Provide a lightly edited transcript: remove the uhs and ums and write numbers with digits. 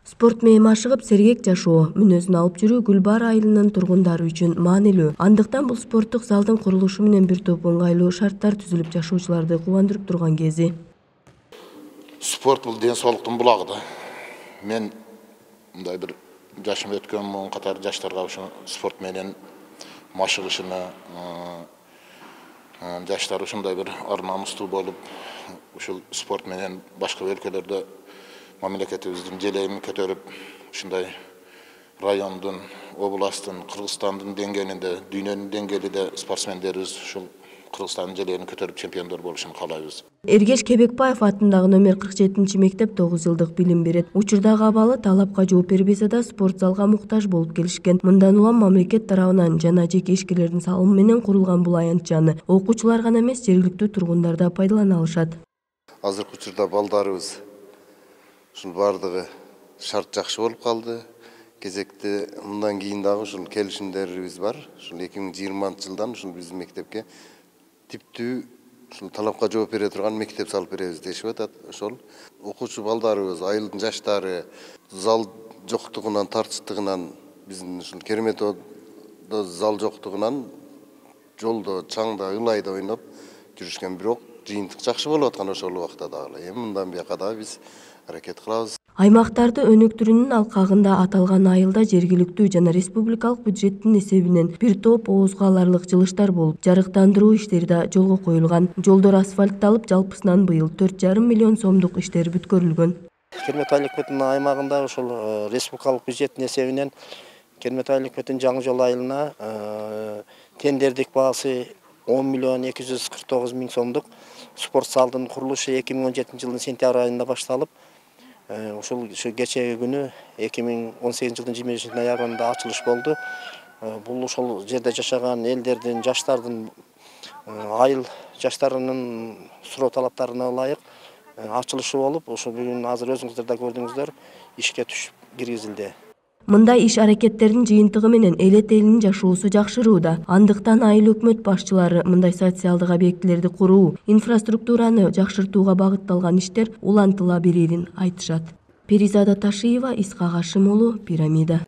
Спорт менен машыгып сергек жашоо, мүнөзүн алып жүрүү Гүлбаар айылынын тургундары үчүн маанилүү. Андыктан бул спорттук залдын курулушу менен бир топ ыңгайлуу шарттар түзүлүп жашоочуларды кубандырып турган кези. Спорт бул ден соолуктун булагы да. Мен мындай бир жашым өткөн муун катар жаштарга ушу спорт менен машыгышына, жаштар ушундай бир ар намустуу болуп, ушул спорт менен башка өлкөлөрдө мамлекетибиздин желегин көтөрүп, ушундай райондун, областтын, Кыргызстандын деңгээлинде, дүйнөнүн деңгээлинде спортсмендерибиз ушул Кыргызстандын желегин көтөрүп чемпиондор болушун каалайбыз. Эргеш Кебекбаев атындагы номер 47-мектеп 9 жылдык билим берет. Учурдагы абалы талапка жооп бербесе да спорт залга муктаж болуп келишкен. Мындан улам мамлекет тарабынан жана жеке ишкерлердин салымы менен курулган бул аянтчаны окуучулар гана эмес, жергиликтүү тургундар да пайдалана алышат. Азыркы учурда балдарыбыз ушул бардыгы шарт жакшы болуп калды. Кезекте мындан кийин дагы ушул келишимдерибиз бар. Ушул 2020-жылдан ушул биздин мектепке типтүү ушул талапка жооп бере турган мектеп салып беребиз дешип атат. Ошол окуучу балдарыбыз, айылдын жаштары зал жоктугунан, тартыштыгынан, биздин ушул Кереметодо зал жоктугунан жолдо, чаңда, ылайда ойноп жүрүшкөн, бирок жыйынтык жакшы болуп аткан ошол убакта дагы. Эми мындан бияка дагы биз аракет кылабыз. Аймактарды өнүктүрүүнүн алкагында аталган айылда жергиликтүү жана республикалык бюджеттин эсебинен бир топ оозго аларлык жылыштар болуп, жарыктандыруу иштери да жолго коюлган. Жолдор асфальтталып, жалпысынан быйыл 4,5 миллион сомдук иштер бүткөрүлгөн. Кермет айылыкметтин аймагында ошол республикалык бюджеттин эсебинен Кермет айылыкметтин жаңы жол айылына тендердик баасы 10 миллион 249 миң сомдук спорт залдын курулушу 2017 жылдын сентябрь айында башталып, ушул кечеги күнү 2018 жылдын 25 ноябрында ачылыш болду. Бул ошол жерде жашаган элдердин, жаштардын, айыл жаштарынын суроо талаптарына ылайык ачылышы болуп, ошо бүгүн азыр өзүңүздөр да көрдүңүздөр, ишке түшүп киргизилди. Мындай иш аракеттердин жыйынтыгы менен элет элинин жашоосу жакшырууда. Андыктан айыл өкмөт башчылары мындай социалдык объектилерди куруу, инфраструктураны жакшыртууга багытталган иштер улантыла берерин айтышат. Перизада Ташиева, Исхак Ашим уулу, Пирамида.